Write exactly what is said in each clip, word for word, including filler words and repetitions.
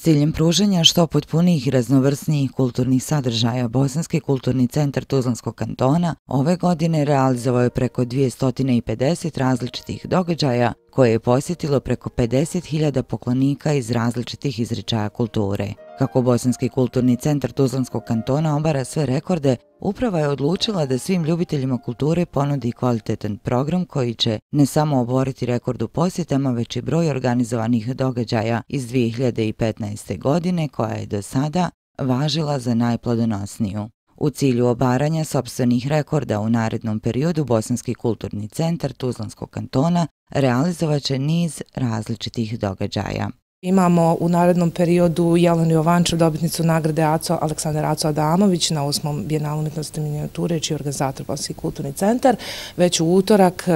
ciljem pružanja što potpunijih i raznovrsnijih kulturnih sadržaja, Bosanski kulturni centar Tuzlanskog kantona ove godine realizovao je preko dvjesto pedeset različitih događaja koje je posjetilo preko pedeset hiljada poklonika iz različitih izričaja kulture. Kako Bosanski kulturni centar Tuzlanskog kantona obara sve rekorde, uprava je odlučila da svim ljubiteljima kulture ponudi kvalitetan program koji će ne samo oboriti rekord u posjetama, već i broj organizovanih događaja iz dvije hiljade petnaeste. godine koja je do sada važila za najplodonosniju. U cilju obaranja sopstvenih rekorda u narednom periodu Bosanski kulturni centar Tuzlanskog kantona realizovat će niz različitih događaja. Imamo u narednom periodu Jelenu Jovančev, dobitnicu nagrade Aco Aleksandar Aco Adamović na osmom Bijenalu umjetnosti i minijature, čiji je organizator Bosanski kulturni centar. Već u utorak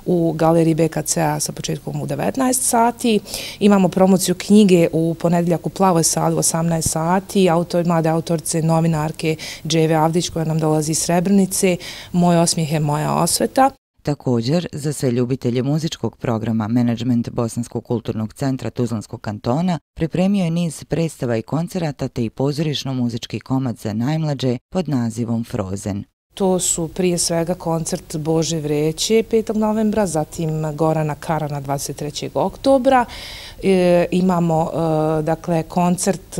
u galeriji B K C-a sa početkom u devetnaest sati. Imamo promociju knjige u ponedjeljak u Plavoj sali u osamnaest sati. Autor, mlade autorice, novinarke Dževe Avdić koja nam dolazi iz Srebrnice. Moj osmijeh je moja osveta. Također, za sve ljubitelje muzičkog programa menadžment Bosanskog kulturnog centra Tuzlanskog kantona pripremio je niz predstava i koncerata te i pozorišno-muzički komad za najmlađe pod nazivom Frozen. To su prije svega koncert Bože Vreće petog novembra, zatim Gorana Karana dvadeset trećeg oktobra. E, imamo e, dakle koncert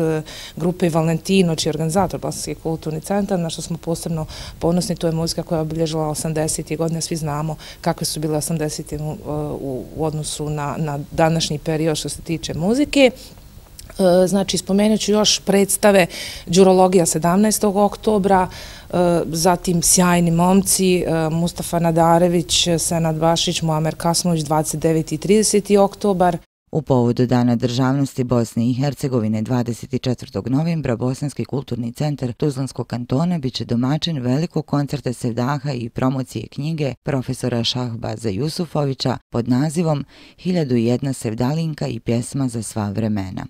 grupe Valentino, čiji je organizator Bosanski kulturni centar, na što smo posebno ponosni. To je muzika koja je obilježila osamdesetih godine. Svi znamo kakve su bile osamdesete u, u, u odnosu na, na današnji period što se tiče muzike. Znači, spomenut ću još predstave Đurologija sedamnaestog oktobra, zatim Sjajni momci, Mustafa Nadarević, Senad Bašić, Muamer Kasmović, dvadeset deveti i trideseti oktobar. U povodu Dana državnosti Bosne i Hercegovine dvadeset četvrtog novembra Bosanski kulturni centar Tuzlanskog kantona biće domaćin velikog koncerta sevdaha i promocije knjige profesora Šahbaza Jusufovića pod nazivom Hiljadu i jedna sevdalinka i pjesma za sva vremena.